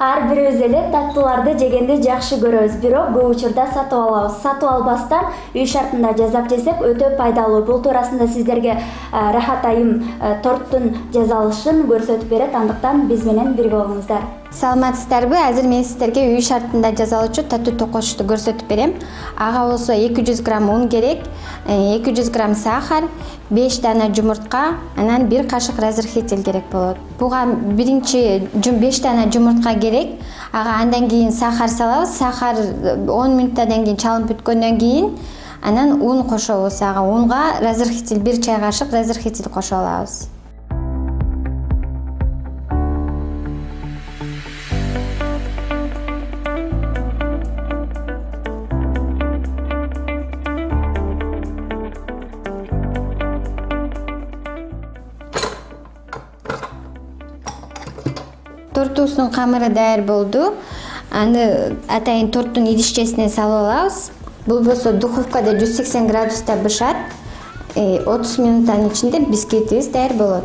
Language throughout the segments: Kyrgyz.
Ар бирибиз эле таттууларды жегенди жакшы көрөбүз, бирок көп учурда сатып алабыз. Сатып албастан үй шартында жасап жесек өтө пайдалуу. Бул туурасында сиздерге Рахат айым торттун жасалышын көрсөтүп берет, андыктан биз менен бирге болуңуздар. Саламатсыздарбы? Азыр мен сиздерге үй шартында жасалуучу таттуу токошукту көрсөтүп берем. Ага болсо 200 грамм un керек, 200 грамм сахар, 5 дана жумуртка, анан 1 кашык разрыхитель керек болот. Буга биринчи 5 дана жумуртка керек. Ага андан кийин сахар салабыз. Сахар 10 мүнөттөн кийин чалынып бүткөндөн кийин анан un кошобуз. Ага унга разрыхитель 1 чай кашык разрыхитель кошуп алабыз. Тортубуздун камыры даяр болду. Аны атайын торттун идишчесине салып алабыз. Бул болсо духовкада 180 градуста бышат. 30 минуттан ичинде бисквитибиз даяр болот.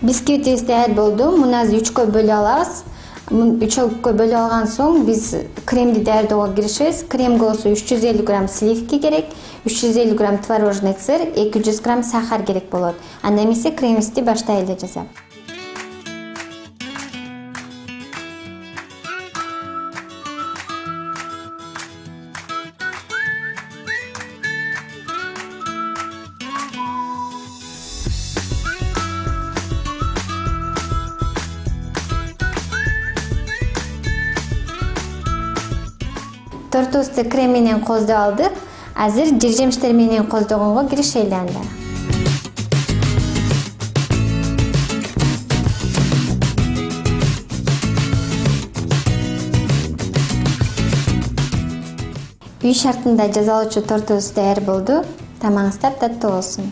Бисквитибиз даяр болду. Муну азыр 3кө бөлүп алабыз. 3кө бөлүп алган соң биз кремди даярдоого киришебиз. Кремге болсо 350 грамм сливки керек, 350 грамм творожный сыр, 200 грамм сахар керек болот. Анда эмесе кремибизди баштайлы жасап. Тортубузду крем менен коздоп алдык. Азыр жер жемиштер менен коздогонго киришели анда. Үй шартында жасалуучу тортубуз даяр болду. Тамагыңыздар таттуу болсун.